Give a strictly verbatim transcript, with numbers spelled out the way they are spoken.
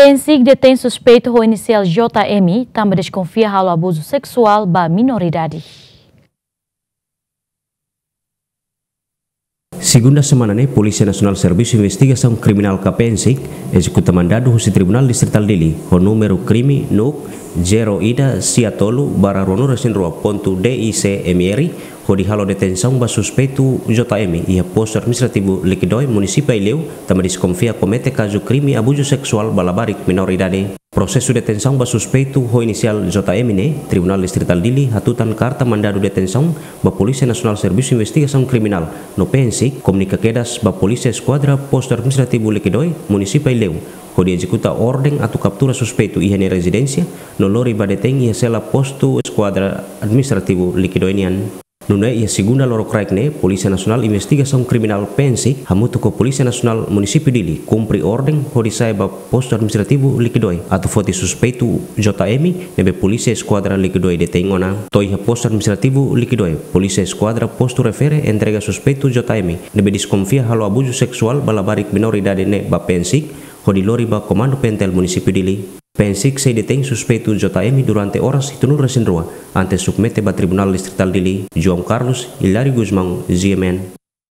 PNSIK detein suspeitu ho inisiál J M tanba deskonfia halo abuzu seksuál ba minoridade. Segunda semana ne'e, Polísia Nasionál Servisu Investigasaun Kriminál ka PNSIK ezekuta mandadu husi Tribunál Distritál Dili, ho númeru krime NUC zero ida sia tolu barra ruanulu resin rua pontu D I C M R, hodi halo detensaun ba suspeitu J M iha Postu Administrativu Liquidoe, Munisípiu Aileu, tanba deskonfia komete kazu krime abuzu seksuál ba labarik minoridade. Prosesu detensaun ba suspeitu ho inisiál J M ne'e, Tribunál Distritál Dili hatutan karta mandadu detensaun ba Polísia Nasionál Servisu Investigasaun Kriminál no PNSIK, komunika kedas ba Polísia Eskuadra Postu Administrativu Liquidoe, Munisípiu Aileu, hodi ezekuta orden atu kaptura suspeitu iha nia rezidénsia no lori ba detein iha sela Postu Eskuadra Administrativu Liquidoe nian. Nune'e iha segunda lorokraik ne'e, Polísia Nasionál Investigasaun Kriminál, PNSIK, hamutuk ho Polísia Nasionál Munisípiu Dili, kumpre orden hodi sa'e ba Postu Administrativu Liquidoe atu foti suspeitu J M ne'ebé Polísia Eskuadra Liquidoe detein ona. To'o iha Postu Administrativu Liquidoe, Polísia Eskuadra Postu refere entrega suspeitu J M ne'ebé deskonfia halo abuzu seksuál ba labarik minoridade ne'e ba PNSIK, hodi lori ba Komandu PNTL Munisípiu Dili. PNSIK sei detein suspeitu J M durante oras hitunulu resin rua, antes submete ba Tribunál Distritál Dili. João Carlos, Hilário Gusmão, G M N.